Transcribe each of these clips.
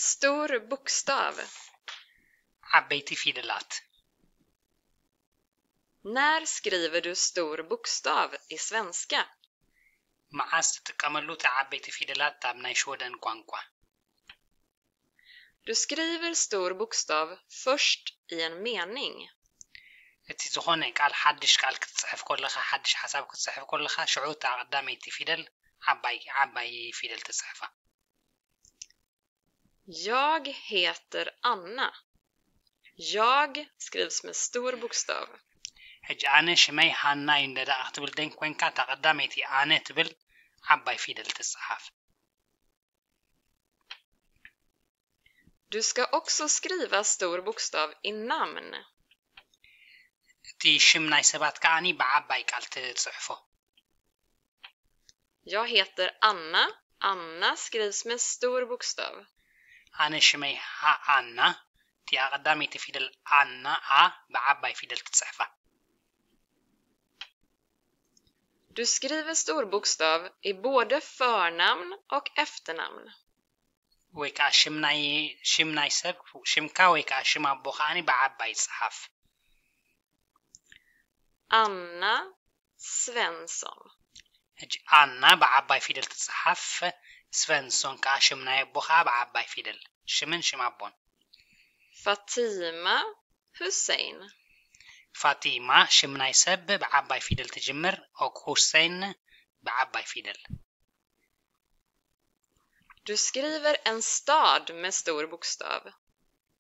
Stor bokstav. ዓበይቲ ፊደላት። När skriver du stor bokstav i svenska? መዓስ ትጥቀመሉ እቲ ዓበይቲ ፊደላት ኣብ ናይ ሽወደን ቋንቋ? Du skriver stor bokstav först i en mening. እቲ ዝኾነ ቃል ሓድሽ ቃል ክትጽሕፍ ከለኻ ሓድሽ ሓሳብ ክትጽሕፍ ከለኻ ሽዑ እታ ቀዳመይቲ ፊደል ዓባይ ዓባይ ፊደል ትጽሕፋ። Jag heter Anna. Jag skrivs med stor bokstav. ሕጂ ኣነ ሽመይ ሃና እዩ እንደ ደኣ ክትብል ደን ኮንካ እታ ቀዳመይቲ ኣነ ትብል ዓባይ ፊደል ትጽሓፍ። Du ska också skriva stor bokstav i namn. እቲ ሽም ናይ ሰባት ከዓኒ ብዓባይ ቃል ትጽሕፎ። Jag heter Anna. Anna skrivs med stor bokstav. ኣነ ሽመይ ሃ ኣና። እቲኣ ቀዳመይቲ ፊደል ኣና ኣ ብዓባይ ፊደል ትጽሕፋ። Du skriver stor bokstav i både förnamn och efternamn. ወይ ከዓ ሽም ናይ ሽም ናይ ሰብ ሽምካ ወይ ከዓ ሽም ኣቦ ከዓኒ ብዓባይ ይጽሓፍ። Anna Svensson. ሕጂ ኣና ብዓባይ ፊደል ትጽሓፍ፣ ስቨንሶን ከዓ ሽም ናይ ኣቦ ከዓ ብዓባይ ፊደል፣ ሽምን ሽም ኣቦን። Fatima Hussein. ፋቲማ ሽም ናይ ሰብ ብዓባይ ፊደል ትጅምር፣ ኦክ ሁሴን ብዓባይ ፊደል። Du skriver en stad med stor bokstav.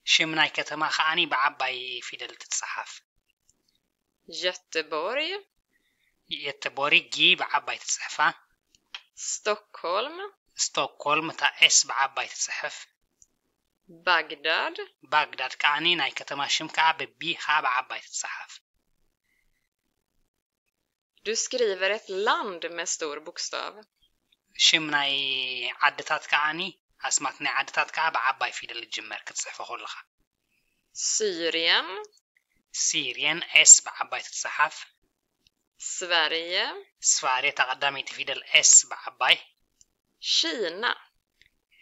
ሽም ናይ ከተማ ከዓኒ ብዓባይ ፊደል ትጽሓፍ። Göteborg. የተቦሪ ጊ ብዓባይ ትጽሕፋ። Stockholm. ስቶክሆልም እታ ኤስ ብዓባይ ትጽሕፍ። Bagdad. ባግዳድ ከዓኒ ናይ ከተማ ሽም ከዓ ብቢ ከዓ ብዓባይ ትጽሓፍ። Du skriver ett land med stor bokstav. ሽም ናይ ዓድታት ከዓኒ ኣስማት ናይ ዓድታት ከዓ ብዓባይ ፊደል ይጅመር ክትጽሕፎ ከለኻ። Syrien. ሲርየን ኤስ ብዓባይ ትጽሓፍ። Sverige. ስፋሬ እታ ቀዳመይቲ ፊደል ኤስ ብዓባይ። Kina.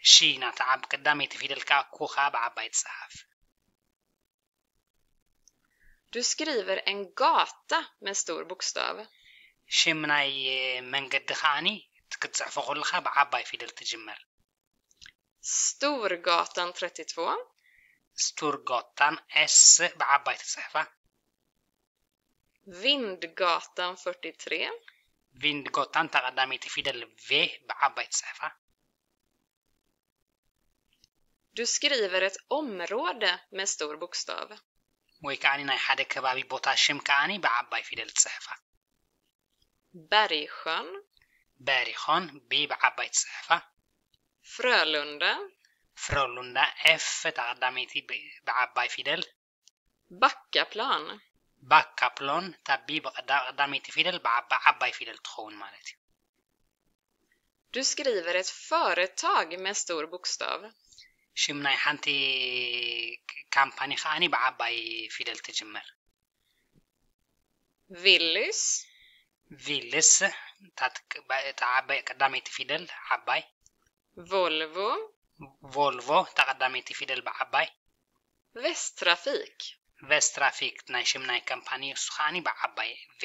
ሺና እታ ዓብ ቀዳመይቲ ፊደል ከዓ ኩ ከዓ ብዓባይ ትጽሓፍ። Du skriver en gata med stor bokstav. ሽም ናይ መንገዲ ከዓኒ ክትጽሕፎ ከለኻ ብዓባይ ፊደል ትጅመር። Storgatan trettiotvå. ስቱርጎታን ኤስ ብዓባይ ትጽሕፋ። Vindgatan fyrtiotre. ቪንድጎታን እታ ቀዳመይቲ ፊደል ቬ ብዓባይ ትጽሕፋ። Du skriver ett område med stor bokstav. ወይ ከዓኒ ናይ ሓደ ከባቢ ቦታ ሽም ከዓኒ ብዓባይ ፊደል ትጽሕፋ። Bergsjön. በሪኾን ቢ ብዓባይ ትጽሕፋ። Frölunda. ፍረሉንዳ ኤፍ እታ ቀዳመይቲ ብ- ብዓባይ ፊደል። Backaplan. ባካፕሎን እታ ቢ ብቐዳ- ቀዳመይቲ ፊደል ብዓባ ዓባይ ፊደል ትኸውን ማለት እዩ። Du skriver ett företag med stor bokstav. ሽም ናይ ሓንቲ ካምፓኒ ከዓኒ ብዓባይ ፊደል ትጅመር። Willys. ቪልስ እታ ትክ- ባ- እታ ዓባይ ቀዳመይቲ ፊደል ዓባይ። Volvo. ቮልቮ እታ ቀዳመይቲ ፊደል ብዓባይ። Västtrafik. ቨስትራፊክ ናይ ሽም ናይ ካምፓኒ እሱ ከዓኒ ብዓባይ ቬ።